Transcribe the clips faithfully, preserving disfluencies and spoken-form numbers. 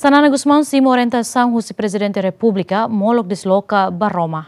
Xanana Gusmão simu orientasaun husi Prezidente Repúblika molok desloka ba Roma.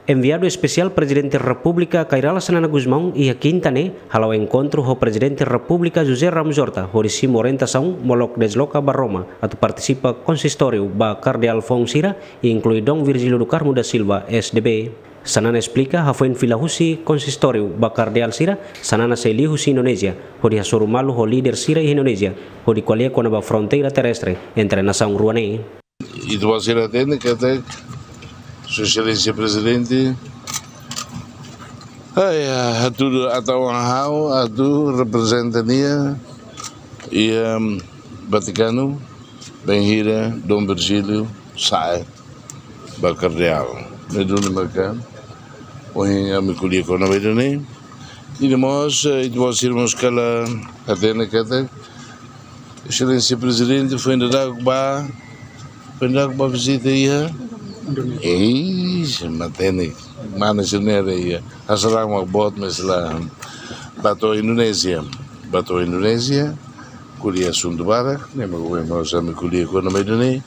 Enviadu Espesiál Prezidente Repúblika Kay Rala Xanana Gusmão iha kinta ne'e hala'o enkontru ho Prezidente Repúblika José Ramos Horta hodi simu orientasaun molok desloka ba Roma atu partisipa konsistóriu ba kardeál foun sira, inklui Dom Virgílio do Carmo da Silva, S D B. Xanana esplika hafoin fila husi konsistóriu ba kardeál sira, Xanana sei liu husi Indonézia hodi hasoru malu ho líder sira iha Indonézia hodi ko'alia kona-ba fronteira terrestre entre nasaun rua ne'e. Ita-boot sira hatene katak Sua Exelénsia Prezidente, ai, ah, atu, atu ha'u atu reprezenta nia iha, em, Vatikanu, bainhira Dom Virgílio sa'e ba kardeál. Ne'e duni maka ohin ami ko'alia kona-ba ida-ne'e. Ida mós, eh, ita-boot sira mós kala hatene katak Exelénsia Prezidente foin dadauk bá, foin dadauk bá vizita iha Indonézia. Ei, matenek, mana sira-ne'e iha. Hasa'e mak boot, mas la bá to'o Indonézia. Bá to'o Indonézia, ko'alia asuntu barak, ne'e mak ohin mós ami ko'alia kona-ba ida-ne'e.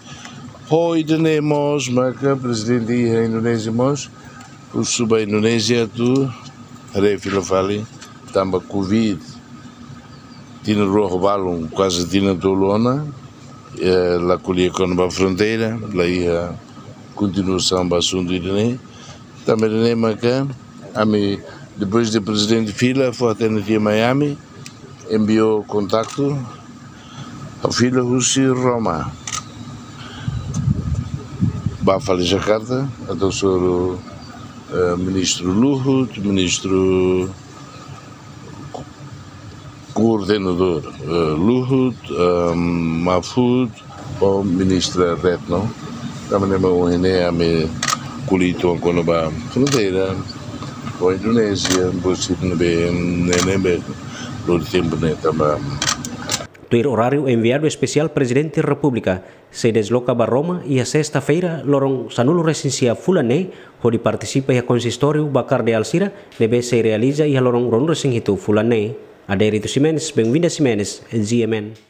Ho ida-ne'e mós, maka Prezidente iha Indonézia mós, husu ba Indonézia atu haree fila fali tanba Covid tinan rua ho balun, kuaze tinan tolu ona, eh, la ko'alia kona-ba fronteira, la iha kontinuasaun ba asuntu ida-ne'e. Tanba ida-ne'e maka ami, depois de Prezidente fila, fó hatene tiha mai ami, envia kontaktu, ha'u fila husi Roma bá fali Jakarta, atu hasoru, eh, Ministru Luhut, Ministru Koordenadór, eh, Luhut, eh, Mahfud, ho Ministra Retno. Tanba ne'e mak ohin ne'e ami ko'alia uitoan kona-ba fronteira ho Indonézia, buat sira ne'ebé, ne'e, ne'ebé lori tempu ne'e tanba. Tuir oráriu, Enviadu Espesiál Prezidente Repúblika sei desloka ba Roma iha sesta-feira, loron sanulu-resin-sia fulan ne'e, hodi partisipa iha konsistóriu ba kardeál sira, ne'ebé sei realiza iha loron ruanulu-resin-hitu fulan ne'e. Adérito Ximenes, Benvinda Ximenes, G M N.